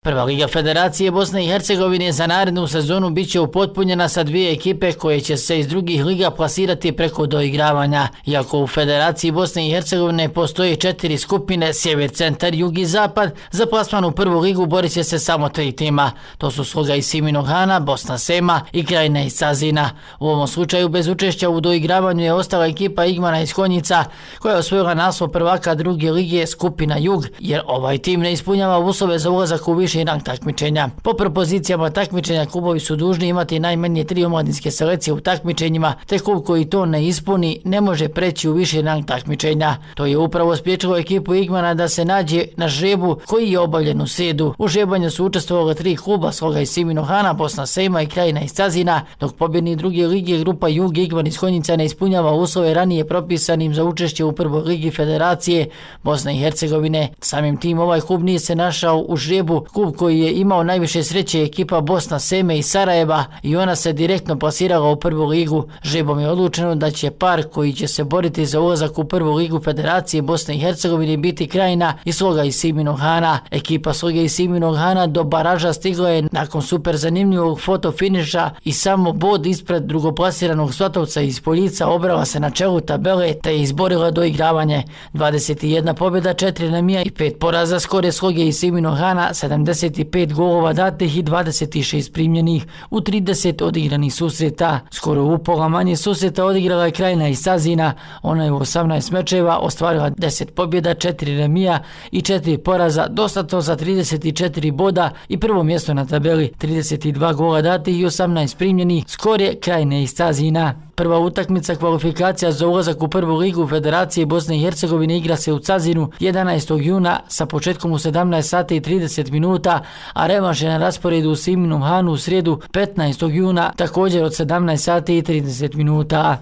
Prva liga Federacije Bosne i Hercegovine za narednu sezonu bit će upotpunjena sa dvije ekipe koje će se iz drugih liga plasirati preko doigravanja. Iako u Federaciji Bosne i Hercegovine postoje 4 skupine, sjever, centar, jug i zapad, za plasman u prvu ligu borit će se samo 3 tima. To su Sloga iz Siminog Hana, Bosna Sema i Krajina iz Cazina. U ovom slučaju bez učešća u doigravanju je ostala ekipa Igmana iz Konjica, koja je osvojila naslov prvaka druge lige skupina jug, jer ovaj tim ne ispunjava uslove za ulazak u viši rang takmičenja. Po propozicijama takmičenja klubovi su dužni imati najmanje 3 omladinske selekcije u takmičenjima, te klub koji to ne ispuni ne može preći u viši rang takmičenja. To je upravo spriječilo ekipu Igmana da se nađe na žrebu koji je obavljen u srijedu. U žrebanju su učestvovala 3 kluba, Sloga iz Siminog Hana, Bosna Sema i Krajina iz Cazina, dok pobjednik druge lige grupa Jug Igman iz Konjica ne ispunjava uslove ranije propisanim za učešće u prvoj ligi Federacije Bosne i Hercegovine. Samim tim ovaj klub nije se našao u žrebu. Klub koji je imao najviše sreće je ekipa Bosna Seme iz Sarajeva i ona se direktno plasirala u prvu ligu. Žrebom je odlučeno da će par koji će se boriti za ulazak u prvu ligu Federacije Bosne i Hercegovine biti Krajina i Sloga iz Siminog Hana. Ekipa Sloge iz Siminog Hana do baraža stigla je nakon super zanimljivog fotofiniša i samo bod ispred drugoplasiranog Svatovca iz Poljica obrala se na čelu tabele te je izborila doigravanje. 21 pobjeda, 4 remija i 5 poraza, skor je Sloge iz Siminog Hana, 75 golova datih i 26 primljenih u 30 odigranih susreta. Skoro upola manje susreta odigrala je Krajina iz Cazina. Ona je u 18 mečeva ostvarila 10 pobjeda, 4 remija i 4 poraza, dostatno za 34 boda i prvo mjesto na tabeli, 32 gola datih i 18 primljenih. Skor je Krajine iz Cazina. Prva utakmica kvalifikacija za ulazak u prvu ligu Federacije Bosne i Hercegovine igra se u Cazinu 11. juna sa početkom u 17 sati i 30 minuta, a revanš je na rasporedu u Siminom Hanu u srijedu 15. juna također od 17 sati i 30 minuta.